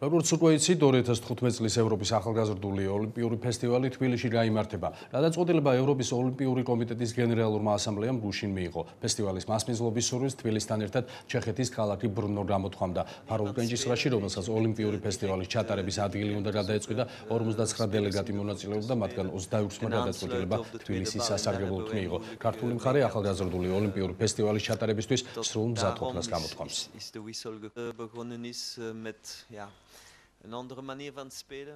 როგორც უკვე იცით, 2015 წლის ევროპის ახალგაზრდული ოლიმპიური ფესტივალი თბილისში გაიმართება. გადაწყვეტილება ევროპის ოლიმპიური კომიტეტის გენერალურმა ასამბლეამ გუშინ მიიღო. ფესტივალის მასპინძლობის სურვილს თბილისთან ერთად ჩეხეთის ქალაქი ბრნო გამოთქვამდა. ფარულ კენჭისყრაში, რომელსაც ოლიმპიური ფესტივალის ჩატარების ადგილი უნდა გადაეწყვიტა, 59 დელეგატი მონაწილეობდა, მათგან 28-მა გადაწყვეტილება თბილისის სასარგებლოდ მიიღო. ქართული მხარე ახალგაზრდული ოლიმპიური ფესტივალის ჩატარებისთვის სრულ მზადყოფნას გამოთქვამს. Een andere manier van spelen.